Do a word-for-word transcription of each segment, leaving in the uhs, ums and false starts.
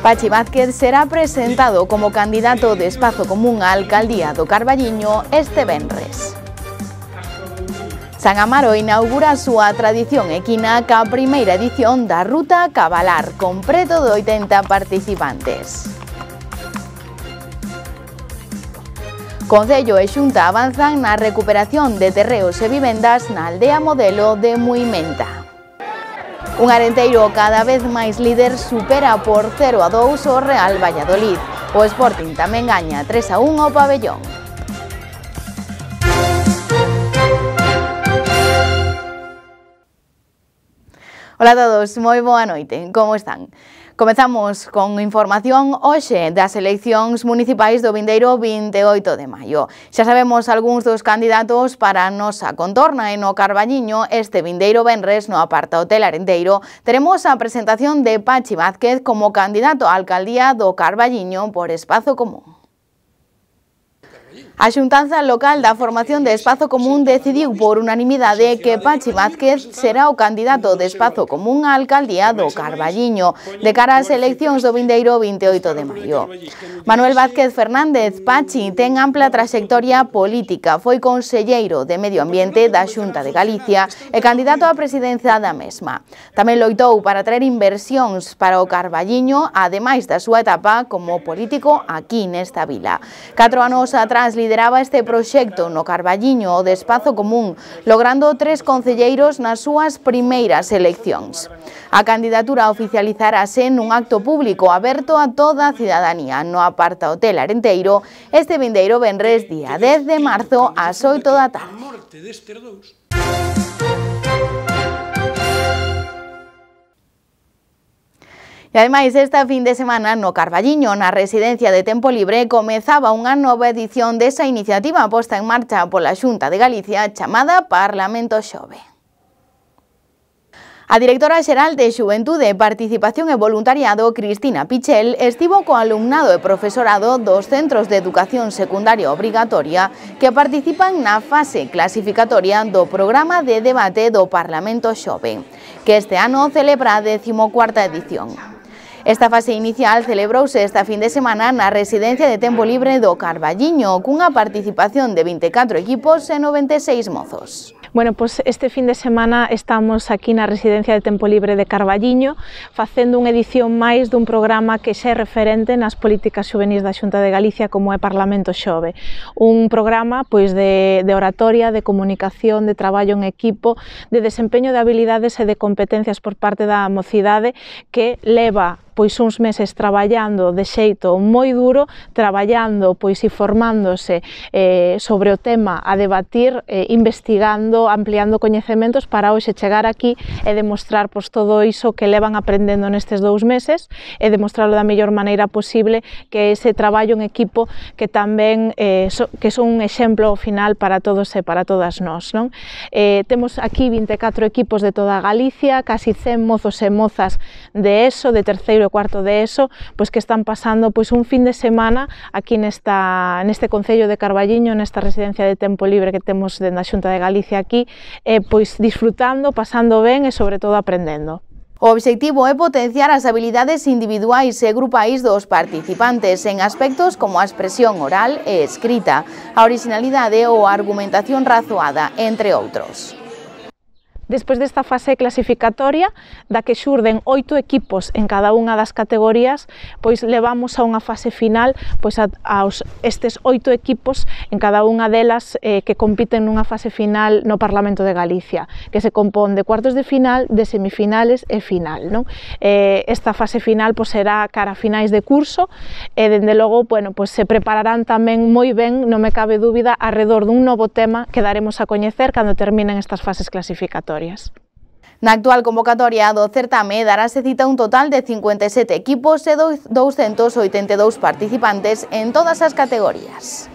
Pachi Vázquez será presentado como candidato de Espazo Común á alcaldía do Carballiño este venres. San Amaro inaugura a súa tradición equina ca primeira edición da Ruta Cabalar, con preto de oitenta participantes. Concello e Xunta avanzan na recuperación de terreos e vivendas na aldea modelo de Muimenta. Un Arenteiro cada vez máis líder supera por cero a dous o Real Valladolid. O Sporting tamén gaña tres a un ao Pabellón. Hola a todos, moi boa noite, como están? Comezamos con información hoxe das eleccións municipais do vindeiro vinte e oito de maio. Xa sabemos algúns dos candidatos para a nosa contorna e no Carballiño este vindeiro venres no Aparta Hotel Arenteiro teremos a presentación de Pachi Vázquez como candidato á alcaldía do Carballiño por Espazo Común. A xuntanza local da formación de Espazo Común decidiu por unanimidade que Pachi Vázquez será o candidato de Espazo Común á alcaldía do Carballiño de cara ás eleccións do vindeiro vinte e oito de maio. Manuel Vázquez Fernández Pachi ten ampla traxectoria política, foi conselleiro de Medio Ambiente da Xunta de Galicia e candidato á presidencia da mesma. Tamén loitou para traer inversións para o Carballiño, ademais da súa etapa como político aquí nesta vila. Catro anos atrás lideraba este proxecto no Carballiño o de Espazo Común, logrando tres concelleiros nas súas primeiras eleccións. A candidatura oficializarase nun acto público aberto a toda a cidadanía no Aparta Hotel Arenteiro este vindeiro venres día dez de marzo ás oito da tarde. E ademais, esta fin de semana no Carballiño, na residencia de Tempo Libre, comezaba unha nova edición desa iniciativa posta en marcha pola Xunta de Galicia chamada Parlamento Xove. A directora xeral de Xuventude, Participación e Voluntariado, Cristina Pichel, estivo co alumnado e profesorado dos centros de educación secundaria obrigatoria que participan na fase clasificatoria do programa de debate do Parlamento Xove, que este ano celebra a décimocuarta edición. Esta fase inicial celebrouse esta fin de semana na residencia de Tempo Libre do Carballiño, cunha participación de vinte e catro equipos e noventa e seis mozos. Bueno, pois este fin de semana estamos aquí na residencia de Tempo Libre de Carballiño facendo unha edición máis dun programa que xa é referente nas políticas xuvenís da Xunta de Galicia como é Parlamento Xove. Un programa pois de, de oratoria, de comunicación, de traballo en equipo, de desempeño de habilidades e de competencias por parte da mocidade que leva pois uns meses traballando de xeito moi duro, traballando pois e formándose eh, sobre o tema a debatir, eh, investigando, ampliando coñecementos para hoxe chegar aquí e demostrar pois todo iso que levan aprendendo nestes dous meses e demostrarlo da mellor maneira posible, que ese traballo en equipo que tamén eh, so, que son un exemplo ao final para todos e para todas nós, non? Eh, temos aquí vinte e catro equipos de toda Galicia, casi cen mozos e mozas de ESO, de terceiro e cuarto de ESO, pois que están pasando pois un fin de semana aquí nesta neste concello de Carballiño, nesta residencia de Tempo Libre que temos dentro da Xunta de Galicia aquí, eh, pois disfrutando, pasando ben e sobre todo aprendendo. O obxectivo é potenciar as habilidades individuais e grupais dos participantes en aspectos como a expresión oral e escrita, a originalidade ou a argumentación razoada, entre outros. Despois desta fase clasificatoria, da que xurden oito equipos en cada unha das categorías, pois levamos a unha fase final pois a, aos estes oito equipos en cada unha delas eh, que compiten nunha fase final no Parlamento de Galicia, que se compón de cuartos de final, de semifinales e final, non? Eh, esta fase final pois será cara a finais de curso e dende logo, bueno, pois se prepararán tamén moi ben, non me cabe dúbida, arredor dun novo tema que daremos a coñecer cando terminen estas fases clasificatorias. Na actual convocatoria do certame darase cita un total de cincuenta e sete equipos e douscentos oitenta e dous participantes en todas as categorías.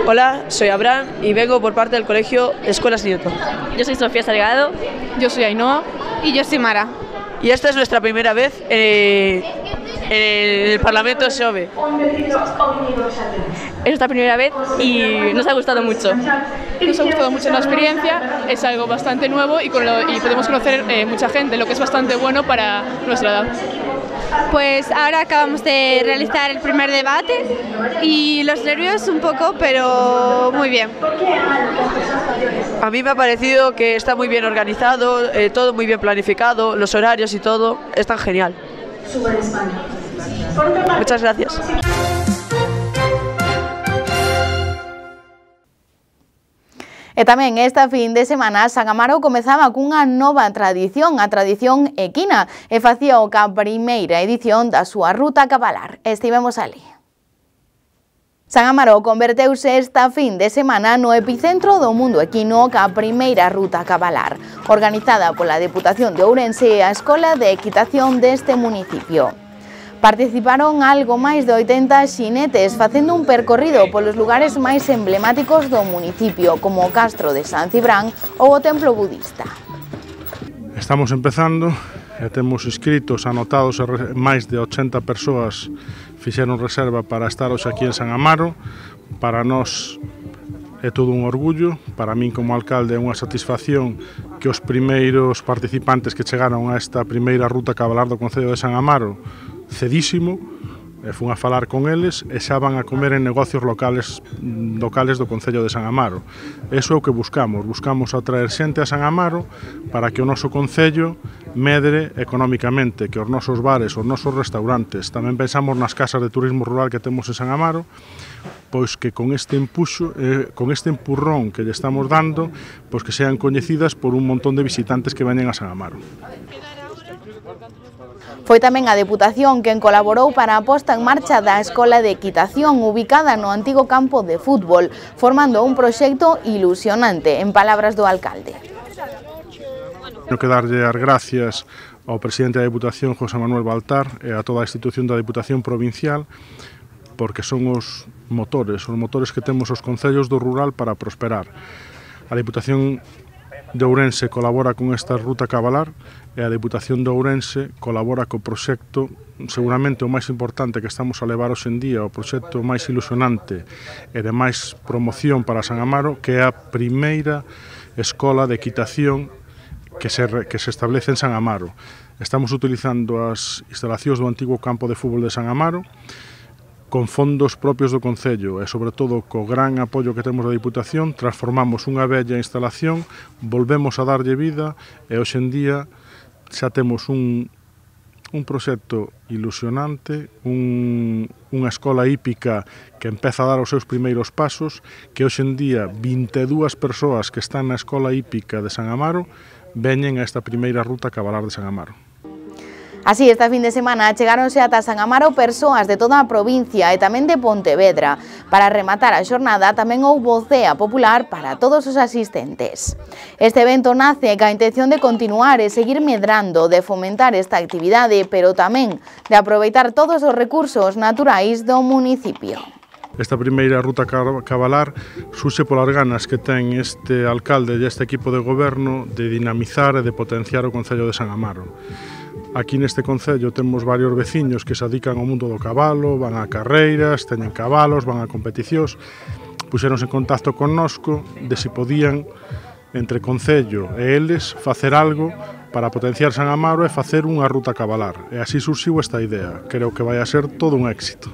Hola, soy Abraham y vengo por parte del colegio Escuelas Nieto. Yo soy Sofía Salgado. Yo soy Ainhoa. Y yo soy Mara. Y esta es nuestra primera vez eh, en el Parlamento Xove. Es nuestra primera vez y nos ha gustado mucho. Nos ha gustado mucho la experiencia, es algo bastante nuevo y, con lo, y podemos conocer eh, mucha gente, lo que es bastante bueno para nuestra edad. Pues ahora acabamos de realizar el primer debate y los nervios un poco, pero muy bien. A mí me ha parecido que está muy bien organizado, eh, todo muy bien planificado, los horarios y todo, están genial. Muchas gracias. E tamén esta fin de semana San Amaro comezaba cunha nova tradición, a tradición equina, e facía o ca primeira edición da súa ruta cabalar. Estivemos ali. San Amaro converteuse esta fin de semana no epicentro do mundo equino ca primeira ruta cabalar, organizada pola Deputación de Ourense e a Escola de Equitación deste municipio. Participaron algo máis de oitenta xinetes facendo un percorrido polos lugares máis emblemáticos do municipio, como o Castro de San Cibrán ou o Templo Budista. Estamos empezando e temos inscritos, anotados, máis de ochenta persoas fixeron reserva para estar hoxe aquí en San Amaro. Para nós é todo un orgullo, para min como alcalde é unha satisfacción que os primeiros participantes que chegaron a esta primeira ruta cabalar do Concello de San Amaro cedísimo, e fun a falar con eles e xa van a comer en negocios locales locales do Concello de San Amaro. Eso é o que buscamos, buscamos atraer xente a San Amaro para que o noso Concello medre económicamente, que os nosos bares, os nosos restaurantes, tamén pensamos nas casas de turismo rural que temos en San Amaro, pois que con este empuxo, eh, con este empurrón que lle estamos dando, pois que sean coñecidas por un montón de visitantes que veñen a San Amaro. Foi tamén a Deputación quen colaborou para a posta en marcha da Escola de Equitación ubicada no antigo campo de fútbol, formando un proxecto ilusionante, en palabras do alcalde. Tenho que darlle as gracias ao presidente da Deputación, José Manuel Baltar, e a toda a institución da Deputación Provincial, porque son os motores, os motores que temos os concellos do rural para prosperar. A Deputación de Ourense colabora con esta ruta cabalar e a Deputación de Ourense colabora co proxecto seguramente o máis importante que estamos a levar hoxe en día, o proxecto máis ilusionante e de máis promoción para San Amaro, que é a primeira escola de equitación que se, que se establece en San Amaro. Estamos utilizando as instalacións do antigo campo de fútbol de San Amaro, con fondos propios do Concello e, sobre todo, co gran apoio que temos da Diputación, transformamos unha bella instalación, volvemos a darlle vida e, hoxe en día, xa temos un, un proxecto ilusionante, un, unha escola hípica que empeza a dar os seus primeiros pasos, que hoxe en día vinte e dúas persoas que están na escola hípica de San Amaro veñen a esta primeira ruta cabalar de San Amaro. Así, esta fin de semana chegáronse ata San Amaro persoas de toda a provincia e tamén de Pontevedra. Para rematar a xornada tamén houbo cea popular para todos os asistentes. Este evento nace ca intención de continuar e seguir medrando, de fomentar esta actividade, pero tamén de aproveitar todos os recursos naturais do municipio. Esta primeira ruta cabalar surxe polas ganas que ten este alcalde e este equipo de goberno de dinamizar e de potenciar o Concello de San Amaro. Aquí neste concello temos varios veciños que se dedican ao mundo do cabalo, van a carreiras, teñen cabalos, van a competicións, puxeronse en contacto connosco de se podían, entre concello e eles, facer algo para potenciar San Amaro e facer unha ruta cabalar. E así surxiu esta idea. Creo que vai a ser todo un éxito.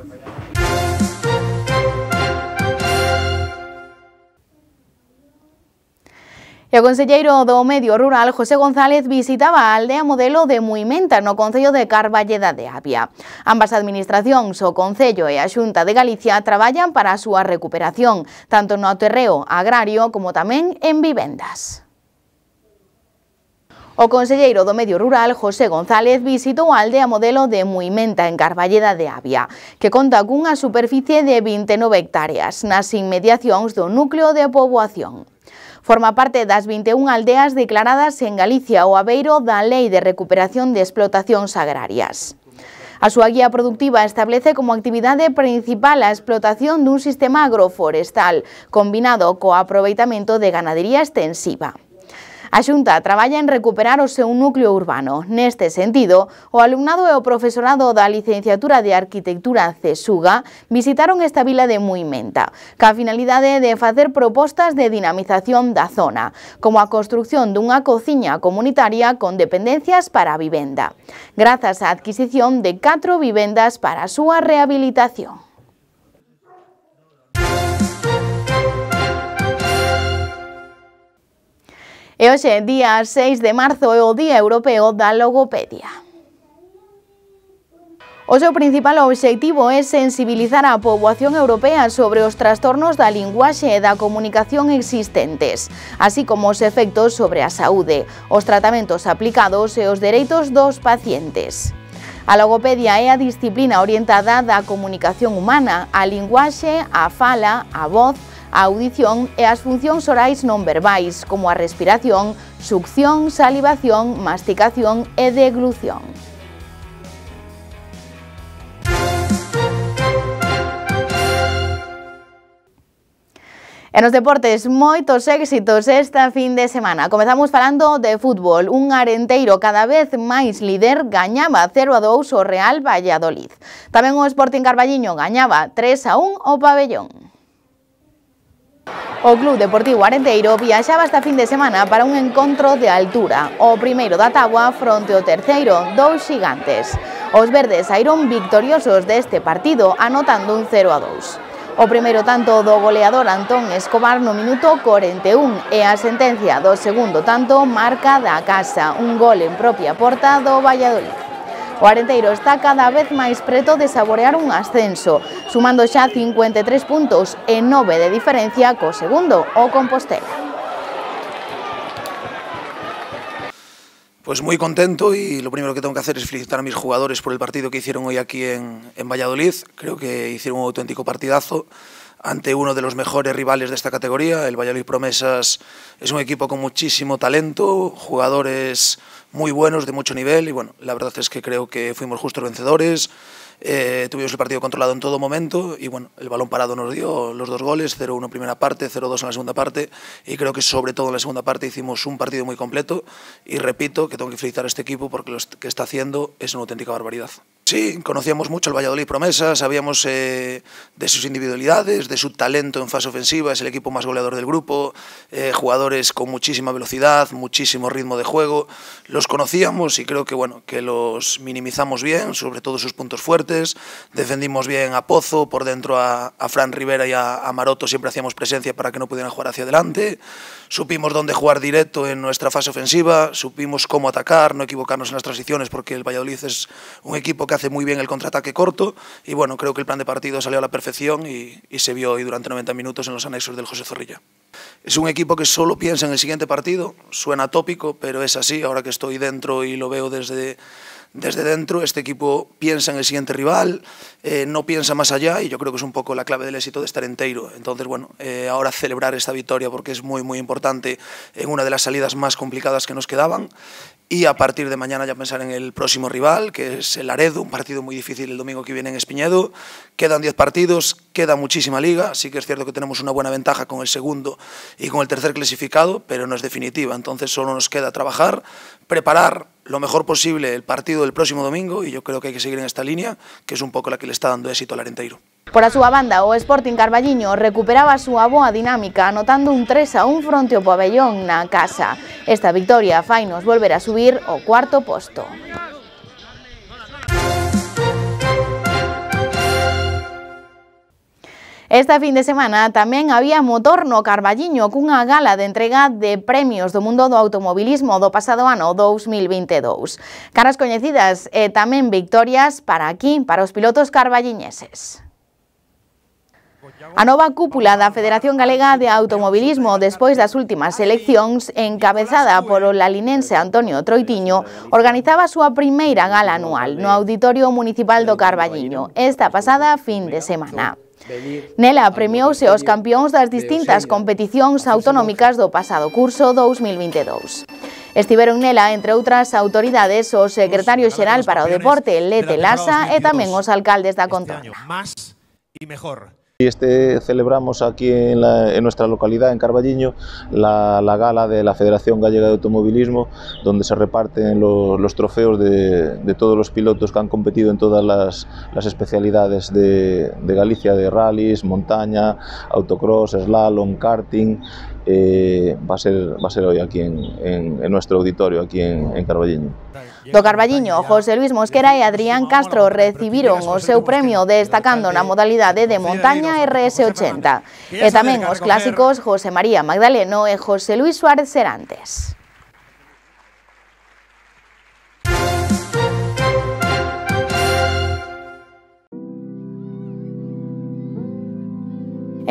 E o conselleiro do Medio Rural, José González, visitaba a aldea modelo de Muimenta no concello de Carballeda de Avia. Ambas administracións, o Concello e a Xunta de Galicia, traballan para a súa recuperación, tanto no terreo agrario como tamén en vivendas. O conselleiro do Medio Rural, José González, visitou a aldea modelo de Muimenta en Carballeda de Avia, que conta cunha superficie de vinte e nove hectáreas nas inmediacións do núcleo de poboación. Forma parte das vinte e unha aldeas declaradas en Galicia ao abeiro da Lei de Recuperación de Explotacións Agrarias. A súa guía productiva establece como actividade principal a explotación dun sistema agroforestal, combinado co aproveitamento de ganadería extensiva. A Xunta traballa en recuperar o seu núcleo urbano. Neste sentido, o alumnado e o profesorado da Licenciatura de Arquitectura CESUGA visitaron esta vila de Muimenta, ca finalidade de facer propostas de dinamización da zona, como a construción dunha cociña comunitaria con dependencias para a vivenda, grazas á adquisición de catro vivendas para a súa rehabilitación. E hoxe, día seis de marzo, é o Día Europeo da Logopedia. O seu principal obxectivo é sensibilizar a poboación europea sobre os trastornos da linguaxe e da comunicación existentes, así como os efectos sobre a saúde, os tratamentos aplicados e os dereitos dos pacientes. A logopedia é a disciplina orientada da comunicación humana, a linguaxe, a fala, a voz, a audición e as funcións orais non verbais, como a respiración, succión, salivación, masticación e deglución. E nos deportes, moitos éxitos esta fin de semana. Comezamos falando de fútbol. Un Arenteiro cada vez máis líder gañaba cero a dous o Real Valladolid. Tamén o Sporting Carballiño gañaba tres a un o Pabellón. O Club Deportivo Arenteiro viaxaba esta fin de semana para un encontro de altura. O primeiro da táboa fronte ao terceiro, dous xigantes. Os verdes saíron victoriosos deste partido anotando un cero a dous. O primeiro tanto do goleador Antón Escobar no minuto corenta e un e a sentencia do segundo tanto marca da casa, un gol en propia porta do Valladolid. O Arenteiro está cada vez máis preto de saborear un ascenso, sumando xa cincuenta e tres puntos e nove de diferencia co segundo, o Compostela. Pues muy contento y lo primero que tengo que hacer es felicitar a mis jugadores por el partido que hicieron hoy aquí en, en Valladolid. Creo que hicieron un auténtico partidazo ante uno de los mejores rivales de esta categoría. El Valladolid Promesas es un equipo con muchísimo talento, jugadores muy buenos, de mucho nivel, y bueno, la verdad es que creo que fuimos justos vencedores. Eh, tuvimos el partido controlado en todo momento y bueno, el balón parado nos dio los dos goles, cero uno en primera parte, cero dos en la segunda parte, y creo que sobre todo en la segunda parte hicimos un partido muy completo y repito que tengo que felicitar a este equipo porque lo que está haciendo es una auténtica barbaridad. Sí, conocíamos mucho al Valladolid Promesas, sabíamos eh, de sus individualidades, de su talento en fase ofensiva, es el equipo más goleador del grupo, eh, jugadores con muchísima velocidad, muchísimo ritmo de juego, los conocíamos y creo que bueno, que los minimizamos bien, sobre todo sus puntos fuertes, defendimos bien a Pozo, por dentro a, a Fran Rivera y a, a Maroto siempre hacíamos presencia para que no pudieran jugar hacia adelante, supimos dónde jugar directo en nuestra fase ofensiva, supimos cómo atacar, no equivocarnos en las transiciones porque el Valladolid es un equipo que hace muy bien el contraataque corto y bueno, creo que el plan de partido salió a la perfección y, y se vio hoy durante noventa minutos en los anexos del José Zorrilla. Es un equipo que solo piensa en el siguiente partido, suena tópico, pero es así, ahora que estoy dentro y lo veo desde... Desde dentro, este equipo piensa en el siguiente rival, eh, no piensa más allá y yo creo que es un poco la clave del éxito de estar entero. Entonces, bueno, eh, ahora celebrar esta victoria porque es muy, muy importante en una de las salidas más complicadas que nos quedaban y a partir de mañana ya pensar en el próximo rival, que es el Laredo, un partido muy difícil el domingo que viene en Espiñedo. Quedan diez partidos, queda muchísima liga, sí que es cierto que tenemos una buena ventaja con el segundo y con el tercer clasificado, pero no es definitiva, entonces solo nos queda trabajar, preparar lo mejor posible el partido del próximo domingo y yo creo que hay que seguir en esta línea, que es un pouco la que le está dando éxito al Arenteiro. Por a súa banda, o Sporting Carballiño recuperaba a súa boa dinámica anotando un tres a un fronte ao Pabellón na casa. Esta victoria fainos volver a subir ao cuarto posto. Esta fin de semana tamén había motor no Carballiño cunha gala de entrega de premios do mundo do automobilismo do pasado ano dous mil vinte e dous. Caras coñecidas e tamén victorias para aquí, para os pilotos carballiñeses. A nova cúpula da Federación Galega de Automobilismo despois das últimas eleccións, encabezada polo lalinense Antonio Troitiño, organizaba a súa primeira gala anual no Auditorio Municipal do Carballiño esta pasada fin de semana. Nela premiouse os campións das distintas competicións autonómicas do pasado curso dous mil vinte e dous. Estiveron nela, entre outras autoridades, o secretario xeral para o deporte, Lete Lasa, e tamén os alcaldes da contorna. Este celebramos aquí en, la, en nuestra localidad, en Carballiño, la, la gala de la Federación Gallega de Automovilismo, donde se reparten los, los trofeos de, de todos los pilotos que han competido en todas las, las especialidades de, de Galicia, de rallies, montaña, autocross, slalom, karting. Eh, va, a ser, va a ser hoy aquí en, en, en nuestro auditorio, aquí en, en Carballiño. Do Carballiño, José Luis Mosquera e Adrián Castro recibiron o seu premio destacando na modalidade de montaña R S ochenta. E tamén os clásicos José María Magdaleno e José Luis Suárez Serantes.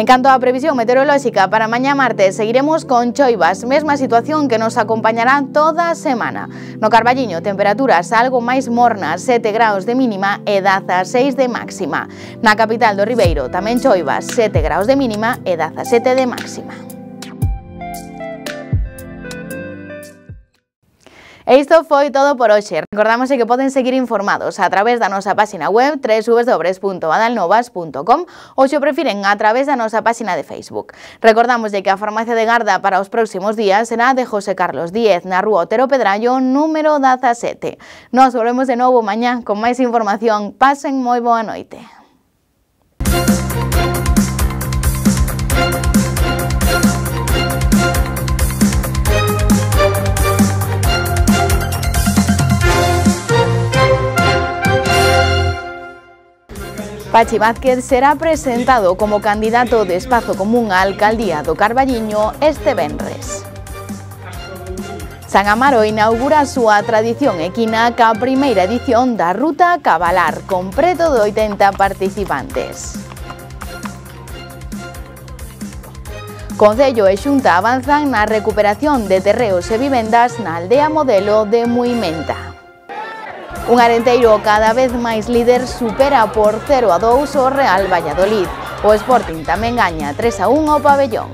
En canto á previsión meteorolóxica para mañá martes, seguiremos con choivas, mesma situación que nos acompañará toda a semana. No Carballiño, temperaturas algo máis mornas, sete graus de mínima e dezaseis de máxima. Na capital do Ribeiro, tamén choivas, sete graus de mínima e dezasete de máxima. E isto foi todo por hoxe. Recordamos que poden seguir informados a través da nosa página web w w w punto adalnovas punto com ou se o prefiren a través da nosa página de Facebook. Recordamos que a farmacia de garda para os próximos días será de José Carlos Díez na rúa Otero Pedrallo número dezasete. Nos volvemos de novo mañá con máis información. Pasen moi boa noite. Pachi Vázquez será presentado como candidato de Espazo Común á alcaldía do Carballiño este venres. San Amaro inaugura a súa tradición equina ca primeira edición da Ruta Cabalar, con preto de oitenta participantes. Concello e Xunta avanzan na recuperación de terreos e vivendas na aldea modelo de Muimenta. Un Arenteiro cada vez máis líder supera por cero a dous o Real Valladolid. O Sporting tamén gaña tres a un ao Pabellón.